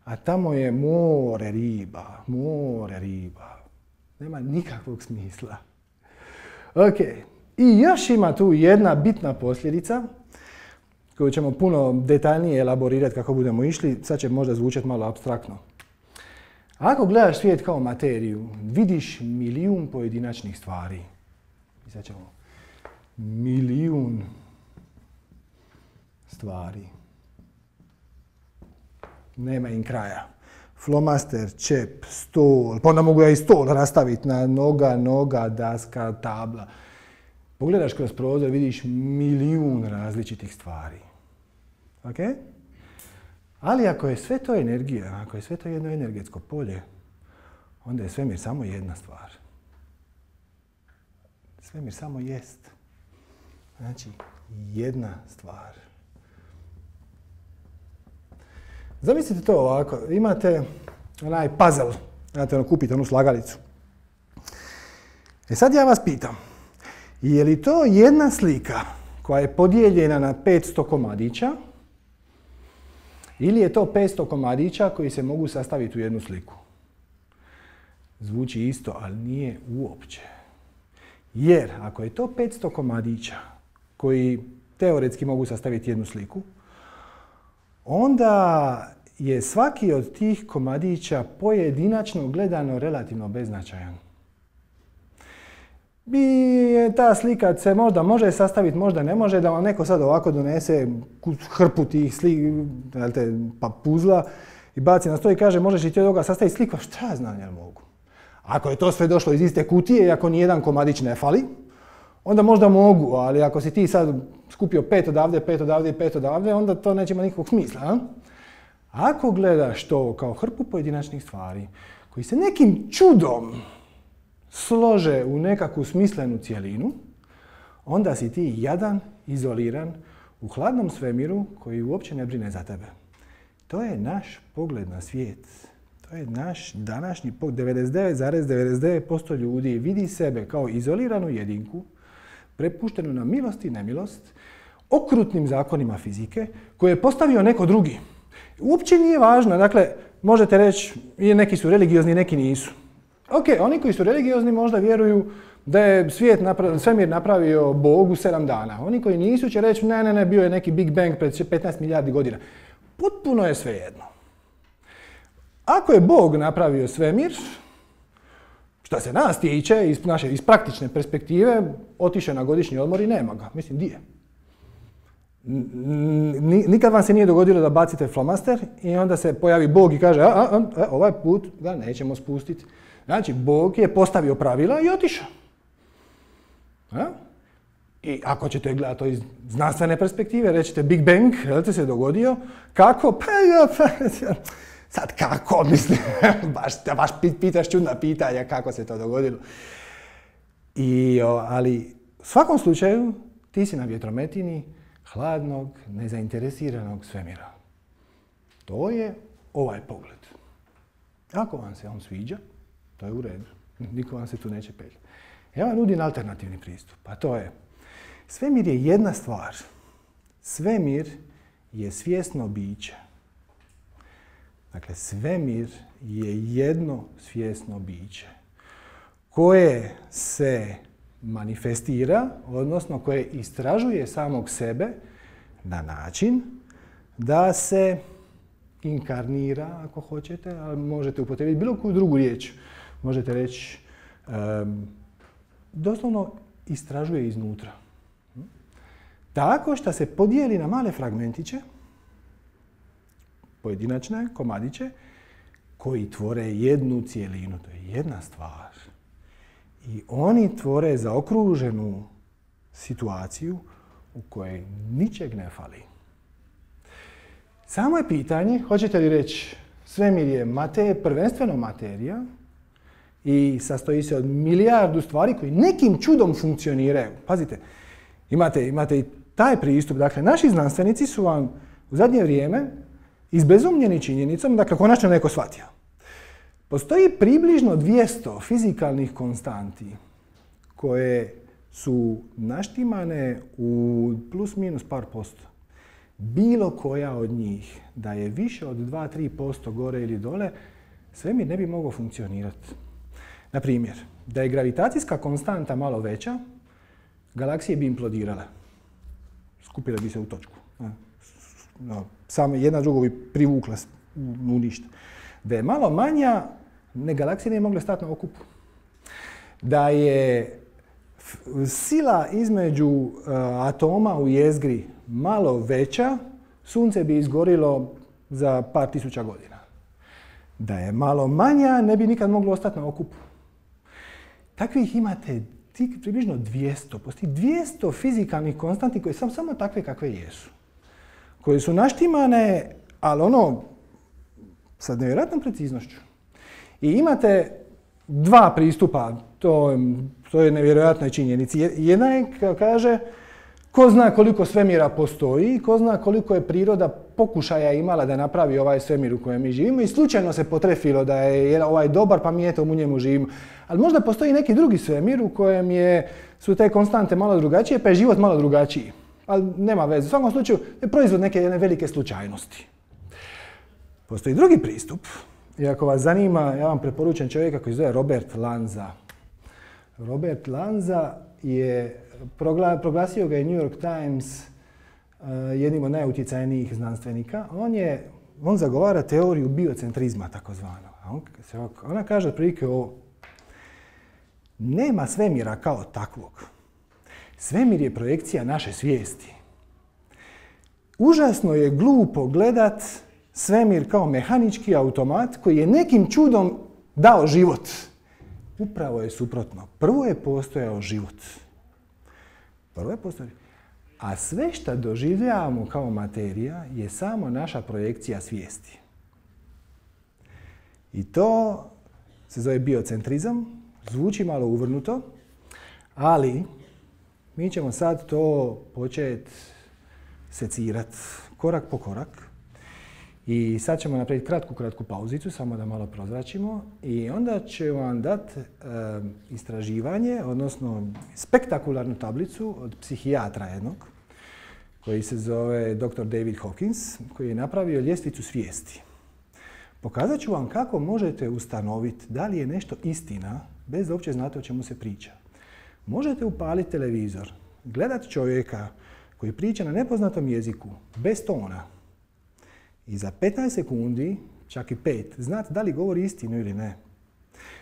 a tamo je more riba, more riba. Nema nikakvog smisla. Ok, i još ima tu jedna bitna posljedica, koju ćemo puno detaljnije elaborirati kako budemo išli, sad će možda zvučati malo apstraktno. Ako gledaš svijet kao materiju, vidiš milijun pojedinačnih stvari. I sad ćemo milijun stvari. Nema im kraja. Flomaster, čep, stol, pa onda mogu ja i stol rastaviti na noga, noga, daska, tabla. Pogledaš kroz prozor, vidiš milijun različitih stvari. Ok? Ali ako je sve to energija, ako je sve to jedno energetsko polje, onda je svemir samo jedna stvar. Svemir samo jest. Znači, jedna stvar. Zamislite to ovako, imate onaj puzzle, znate, ono, kupite onu slagalicu. E sad ja vas pitam, je li to jedna slika koja je podijeljena na petsto komadića ili je to petsto komadića koji se mogu sastaviti u jednu sliku? Zvuči isto, ali nije uopće. Jer ako je to petsto komadića koji teoretski mogu sastaviti jednu sliku, onda je svaki od tih komadića pojedinačno gledano relativno beznačajan. I ta slika se možda može sastaviti, možda ne može, da vam neko sad ovako donese hrpu tih slika, pa puzla i baci na stol i kaže možeš li ti od ovoga sastaviti sliku? Šta ja znam, jel mogu? Ako je to sve došlo iz iste kutije i ako nijedan komadić ne fali, onda možda mogu, ali ako si ti sad skupio pet odavde, pet odavde i pet odavde, onda to neće imati nikakvog smisla. A? Ako gledaš to kao hrpu pojedinačnih stvari koji se nekim čudom slože u nekakvu smislenu cjelinu, onda si ti jadan, izoliran, u hladnom svemiru koji uopće ne brine za tebe. To je naš pogled na svijet. To je naš današnji pogled. devedeset devet zarez devedeset devet posto ljudi vidi sebe kao izoliranu jedinku, prepuštenu na milost i nemilost, okrutnim zakonima fizike, koje je postavio neko drugi. Uopće nije važno, dakle, možete reći, neki su religiozni, neki nisu. Ok, oni koji su religiozni možda vjeruju da je svijet napravio, svemir napravio Bog u sedam dana. Oni koji nisu će reći, ne, ne, ne, bio je neki Big Bang pred petnaest milijardi godina. Potpuno je svejedno. Ako je Bog napravio svemir, što se nas tiče, iz naše iz praktične perspektive, otišao na godišnji odmor i nema ga. Mislim, di je? Nikad vam se nije dogodilo da bacite flomaster i onda se pojavi Bog i kaže, a, a, a, ovaj put ga nećemo spustiti. Znači, Bog je postavio pravila i otišao. A? I ako ćete gledati to iz znanstvene perspektive, rećete Big Bang, je li se dogodio? Kako? Pa, pa, sad kako, mislim, baš, baš pitaš čudna pitanja kako se to dogodilo. I, ali u svakom slučaju ti si na vjetrometini hladnog, nezainteresiranog svemira. To je ovaj pogled. Ako vam se on sviđa, to je u redu. Niko vam se tu neće peljati. Ja vam nudim alternativni pristup, a to je svemir je jedna stvar. Svemir je svjesno biće. Dakle, svemir je jedno svjesno biće koje se manifestira, odnosno koje istražuje samog sebe na način da se inkarnira, ako hoćete, ali možete upotrijebiti bilo koju drugu riječ. Možete reći, um, doslovno istražuje iznutra. Tako što se podijeli na male fragmentiće, pojedinačne komadiće, koji tvore jednu cijelinu. To je jedna stvar. I oni tvore zaokruženu situaciju u kojoj ničeg ne fali. Samo je pitanje, hoćete li reći, svemir je mate, prvenstveno materija i sastoji se od milijardu stvari koji nekim čudom funkcioniraju. Pazite, imate, imate i taj pristup. Dakle, naši znanstvenici su vam u zadnje vrijeme izbezumljeni činjenicom, dakle, konačno neko shvatio. Postoji približno dvjesto fizikalnih konstanti koje su naštimane u plus minus par posto. Bilo koja od njih da je više od dva do tri posto gore ili dole, svemir ne bi mogao funkcionirati. Na primjer, da je gravitacijska konstanta malo veća, galaksije bi implodirale. Skupile bi se u točku. No, samo jedna drugu bi privukla u ništa. Da je malo manja, ne, galaksije ne mogle stati na okupu. Da je sila između uh, atoma u jezgri malo veća, sunce bi izgorilo za par tisuća godina. Da je malo manja, ne bi nikad moglo ostati na okupu. Takvih imate približno dvjesto. Postoji dvjesto fizikalnih konstanti koje su samo takve kakve jesu. Koje su naštimane, ali ono, sa nevjerojatnom preciznošću. I imate dva pristupa, to, to je nevjerojatnoj činjenici. Jedna je, kaže, ko zna koliko svemira postoji, ko zna koliko je priroda pokušaja imala da napravi ovaj svemir u kojem mi živimo i slučajno se potrefilo da je ovaj dobar pa mi eto u njemu živimo. Ali možda postoji neki drugi svemir u kojem je, su te konstante malo drugačije pa je život malo drugačiji. Ali nema veze. U svakom slučaju je proizvod neke jedne velike slučajnosti. Postoji drugi pristup. I ako vas zanima, ja vam preporučam čovjeka koji se zove Robert Lanza. Robert Lanza je, proglasio ga je New York Times jednim od najutjecajnijih znanstvenika. On, je, on zagovara teoriju biocentrizma, takozvano. On, ona kaže otprilike ovo. Nema svemira kao takvog. Svemir je projekcija naše svijesti. Užasno je glupo gledat svemir kao mehanički automat koji je nekim čudom dao život. Upravo je suprotno. Prvo je postojao život. Prvo je postojao. A sve što doživljavamo kao materija je samo naša projekcija svijesti. I to se zove biocentrizam. Zvuči malo uvrnuto, ali mi ćemo sad to početi secirati korak po korak. I sad ćemo napraviti kratku, kratku pauzicu, samo da malo prozračimo. I onda ću vam dati e, istraživanje, odnosno spektakularnu tablicu od psihijatra jednog, koji se zove doktor David Hawkins, koji je napravio ljestvicu svijesti. Pokazat ću vam kako možete ustanoviti da li je nešto istina, bez da uopće znate o čemu se priča. Možete upaliti televizor, gledati čovjeka koji priča na nepoznatom jeziku, bez tona, i za petnaest sekundi, čak i pet, znate da li govori istinu ili ne.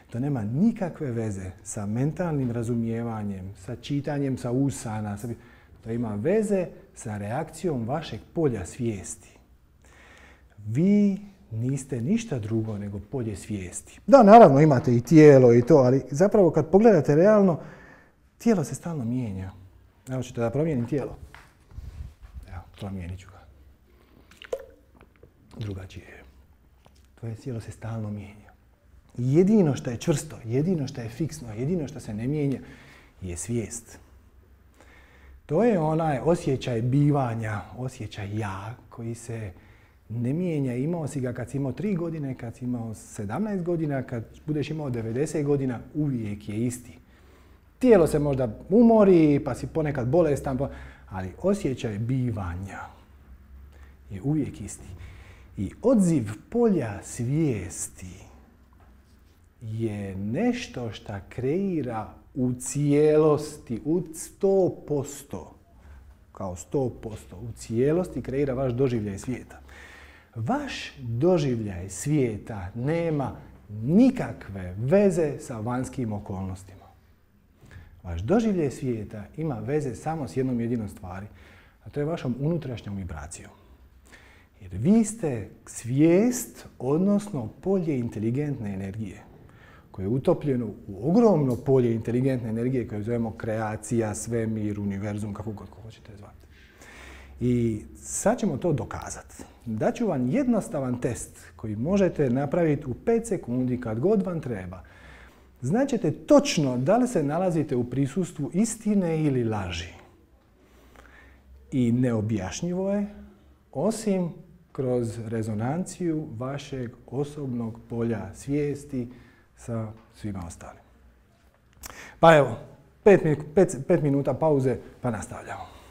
To nema nikakve veze sa mentalnim razumijevanjem, sa čitanjem sa usana. Sa... To ima veze sa reakcijom vašeg polja svijesti. Vi niste ništa drugo nego polje svijesti. Da, naravno imate i tijelo i to, ali zapravo kad pogledate realno, tijelo se stalno mijenja. Evo ćete da promijenim tijelo. Evo, promijenit ću ga. Drugačije je. Tvoje tijelo se stalno mijenja. Jedino što je čvrsto, jedino što je fiksno, jedino što se ne mijenja je svijest. To je onaj osjećaj bivanja, osjećaj ja koji se ne mijenja. Imao si ga kad si imao tri godine, kad si imao sedamnaest godina, kad budeš imao devedeset godina, uvijek je isti. Tijelo se možda umori, pa si ponekad bolestan, ali osjećaj bivanja je uvijek isti. I odziv polja svijesti je nešto što kreira u cijelosti, u sto posto, kao sto posto, u cijelosti kreira vaš doživljaj svijeta. Vaš doživljaj svijeta nema nikakve veze sa vanjskim okolnostima. Vaš doživljaj svijeta ima veze samo s jednom jedinom stvari, a to je vašom unutrašnjom vibracijom. Jer vi ste svijest, odnosno polje inteligentne energije, koje je utopljeno u ogromno polje inteligentne energije koje zovemo kreacija, svemir, univerzum, kako god hoćete zvati. I sad ćemo to dokazati. Daću vam jednostavan test koji možete napraviti u pet sekundi kad god vam treba. Znaćete točno da li se nalazite u prisustvu istine ili laži. I neobjašnjivo je, osim kroz rezonanciju vašeg osobnog polja svijesti sa svima ostalim. Pa evo, pet, pet, pet minuta pauze pa nastavljamo.